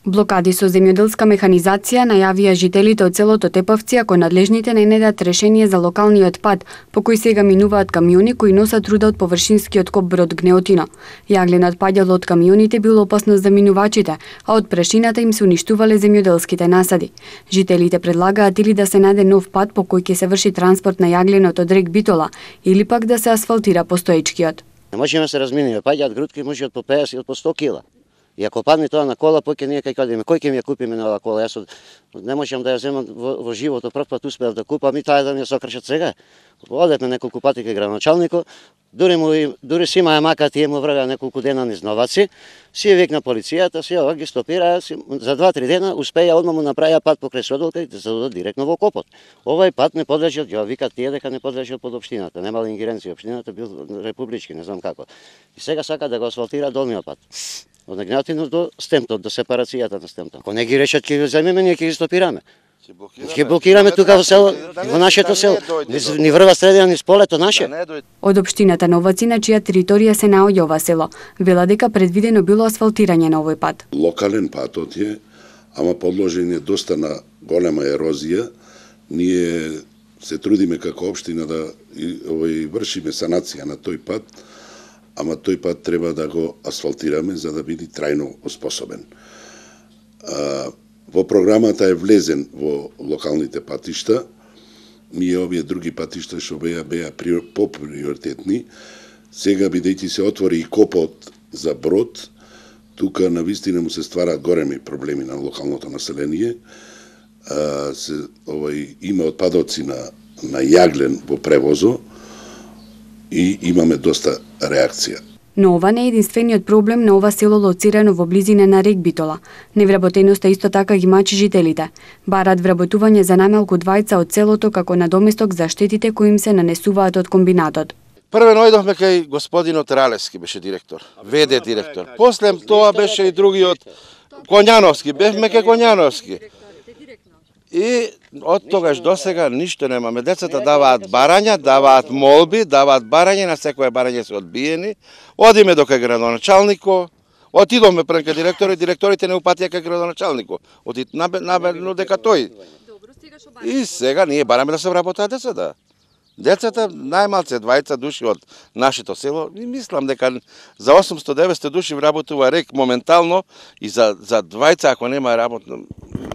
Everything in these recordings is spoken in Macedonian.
Блокади со земјоделска механизација најавија жителите од селото Тепавци ако надлежните не најдат решение за локалниот пат, по кој сега минуваат камиони кои носат руда од површинскиот коп брод Гнеотино. Јагленот паѓал од камионите бил опасност за минувачите, а од прашината им се уништувале земјоделските насади. Жителите предлагаат или да се најде нов пат по кој ќе се врши транспорт на јагленот од рек Битола, или пак да се асфалтира постоечкиот. Не можеме се разминеме, паѓаат грудки, може од по 50 или по 100 кила. И ако падне тоа на кола, поќе ние кај кадеме, кој ќе ми ја купиме на оваа кола? Јас не можам да ја земам во животот, прв пат успеав да купам и таа да ми ја сокршат сега. Одевме неколку пати кај градоначалникот, дури си маја мака тие му врага неколку дена низ Новаци, си ја викна полицијата, си ова ги стопираа, за 2-3 дена успеја одма му направија пат покрај Содолка и да се додат директно во копот. Овај пат не подлежал, ја викат тие дека не подлежал под општината, немала ингеренција, општината бил републички, не знам како. И сега сака да го асфалтира долниот пат. Од Гнеотино до Стемтот, до сепарацијата на Стемтот. Ако не ги решат, ќе ги земеме, ние ќе ги стопираме. Ќе блокираме тука во село, во нашето село. Ни врва средина, ни сполето наше. Од општината Новаци, на чија територија се наоѓа ова село, вела дека предвидено било асфалтирање на овој пат. Локален патот е, ама подложен е доста на голема ерозија. Ние се трудиме како општина да вршиме санација на тој пат, ама тој пат треба да го асфалтираме за да биде трајно оспособен. Во програмата е влезен во локалните патишта. Ние овие други патишта што беа поприоритетни. Сега бидејќи се отвори и копот за брод, тука навистина му се стварат големи проблеми на локалното население. Има отпадоци на јаглен во превозо и имаме доста реакција. Но ова не е единствениот проблем на ова село лоцирано во близина на рек Битола. Невработеноста исто така ги мачи жителите. Барат вработување за најмалку двајца од селото како надоместок за штетите кои им се нанесуваат од комбинатот. Прве најдовме кај господинот Ралевски, беше директор, ВД директор. После тоа беше и другиот Коњановски, бевме кај Коњановски. И од тогаш до сега ништо немаме. Децата даваат барања, даваат молби, даваат барање, на секое барање се одбиени. Одиме до кај градоначалникот, отидоме пред кај директорите не упатија кај градоначалникот. Наберно дека тој. И сега ние бараме да се вработат децата. Децата, најмалце 20 души од нашето село, и мислам дека за 800-900 души вработува рек моментално и за 20 ако нема работно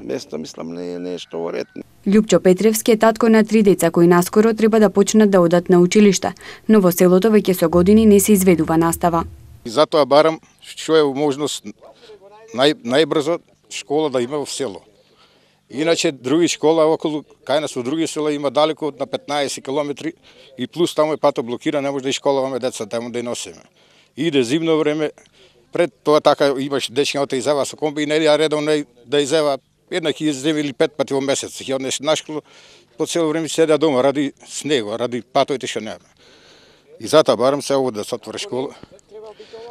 место, мислам не е нешто во ред. Љупчо Петревски е татко на 3 деца кои наскоро треба да почнат да одат на училиште, но во селото веќе со години не се изведува настава. И затоа барам што е можност најбрзо школа да има во село. Иначе други школа околу кај нас во други села има далеко на 15 километри и плюс таму е патот блокира, не може да школаваме деца таму да носиме. Иде зимно време, пред тоа така имаш дечињата изева со комби и не ја редовно да изева еднак изева или 5 пати во месец. Ќе однеш на школа, по цело време седа дома ради снего, ради патоите што нема. И затоа барам се ово да се отвори школа.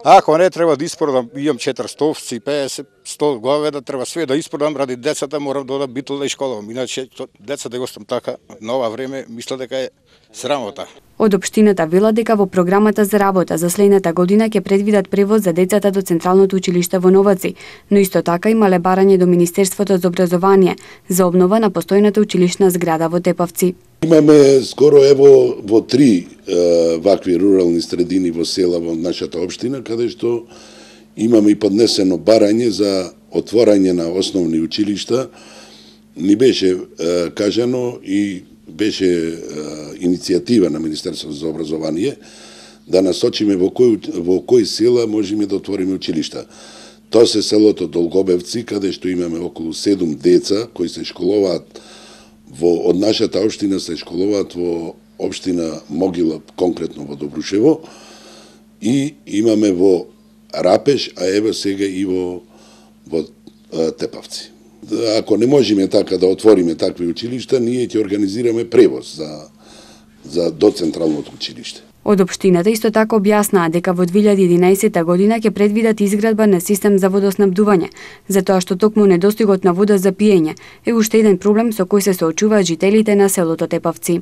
Ако не треба да испородам, имам 4 овци, 50, 100 говеда, треба све да испородам ради децата, морам да одам Битола да школавам. Иначе децата да го остам така, на ова време, мисля дека е срамота. Од општината вела дека во програмата за работа за следната година ќе предвидат превоз за децата до Централното училиште во Новаци, но исто така имале барање до Министерството за образование за обнова на постојната училишна зграда во Тепавци. Имаме скоро ево во 3 вакви рурални средини во села во нашата општина, каде што имаме и поднесено барање за отворање на основни училишта. Ни беше кажано и беше иницијатива на Министерството за образование да насочиме во кој села можеме да отвориме училишта. Тоа се селото Долгобевци, каде што имаме околу 7 деца кои се школуваат од нашата општина, се школуваат во општина Могила, конкретно во Добрушево, и имаме во Рапеш, а ево сега и во Тепавци. Ако не можеме така да отвориме такви училишта, ние ќе организираме превоз до Централното училиште. Од општината исто така објаснаа дека во 2011 година ќе предвидат изградба на систем за водоснабдување, затоа што токму недостигот на вода за пиење е уште еден проблем со кој се соочуваат жителите на селото Тепавци.